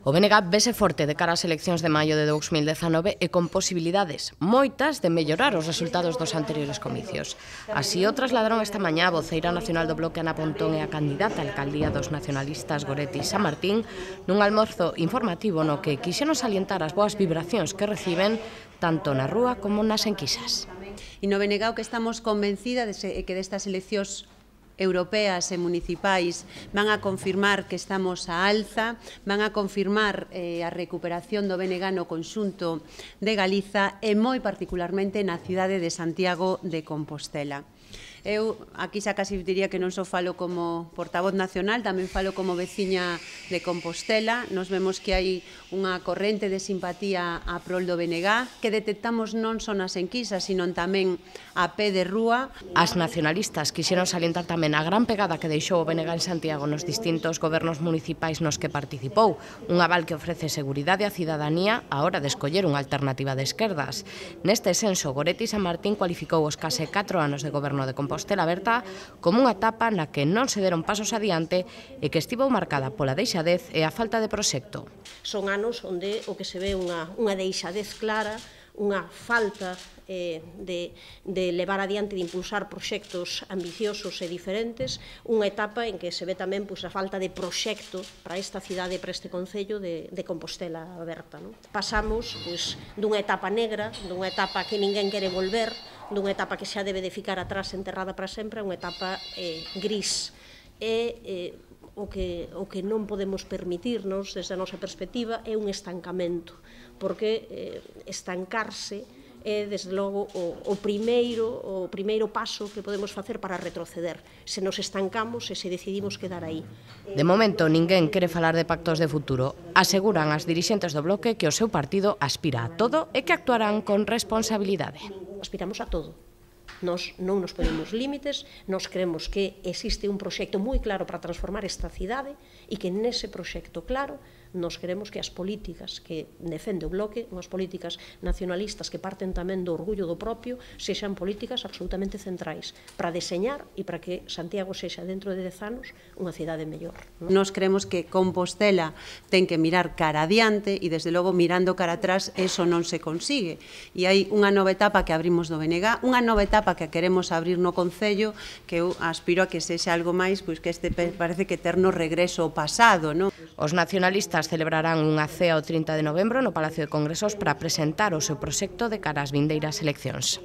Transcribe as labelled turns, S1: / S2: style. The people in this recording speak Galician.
S1: O BNG vese forte de cara ás eleccións de maio de 2019 e con posibilidades moitas de mellorar os resultados dos anteriores comicios. Así o trasladaron esta mañá a voceira nacional do Bloque Ana Pontón e a candidata á alcaldía dos nacionalistas Goretti San Martín nun almorzo informativo no que quixeron salientar as boas vibracións que reciben tanto na rúa como nas enquisas.
S2: E no BNG o que estamos convencida é que destas eleccións europeas e municipais van a confirmar que estamos á alza, van a confirmar a recuperación do BNG no conxunto de Galiza e moi particularmente na cidade de Santiago de Compostela. Eu aquí xa casi diría que non só falo como portavoz nacional, tamén falo como veciña de Compostela. Nos vemos que hai unha corrente de simpatía a prol do BNG que detectamos non só nas enquisas, sino tamén a pé de rúa.
S1: As nacionalistas quixeron salientar tamén a gran pegada que deixou o BNG en Santiago nos distintos gobernos municipais nos que participou, un aval que ofrece seguridade á cidadanía á hora de escoller unha alternativa de esquerdas. Neste senso, Goretti San Martín cualificou os case 4 anos de goberno de Compostela Aberta como unha etapa na que non se deron pasos adiante e que estivo marcada pola deixadez e a falta de proxecto.
S3: Son anos onde o que se ve unha deixadez clara, unha falta de levar adiante, de impulsar proxectos ambiciosos e diferentes, unha etapa en que se ve tamén a falta de proxecto para esta cidade e para este concello de Compostela Aberta. Pasamos dunha etapa negra, dunha etapa que ninguén quere volver, dunha etapa que xa debe de ficar atrás enterrada para sempre, unha etapa gris. O que non podemos permitirnos, desde a nosa perspectiva, é un estancamento, porque estancarse é, desde logo, o primeiro paso que podemos facer para retroceder. Se nos estancamos e se decidimos quedar aí.
S1: De momento, ninguén quere falar de pactos de futuro. Aseguran as dirixentes do Bloque que o seu partido aspira a todo e que actuarán con responsabilidade.
S3: Aspiramos a todo. Nos non nos ponemos límites, nos creemos que existe un proxecto moi claro para transformar esta cidade e que nese proxecto claro nos queremos que as políticas que defende o Bloque, unhas políticas nacionalistas que parten tamén do orgullo do propio, sexan políticas absolutamente centrais para deseñar e para que Santiago sexa dentro de 10 anos unha cidade mellor.
S2: Nos creemos que Compostela ten que mirar cara adiante e, desde logo, mirando cara atrás, eso non se consigue. E hai unha nova etapa que abrimos do BNG, unha nova etapa que queremos abrir no Concello, que eu aspiro a que sexa algo máis, pois que este parece que eterno regreso ao pasado, non?
S1: Os nacionalistas celebrarán unha cea o 30 de novembro no Palacio de Congresos para presentar o seu proxecto de cara ás vindeiras eleccións.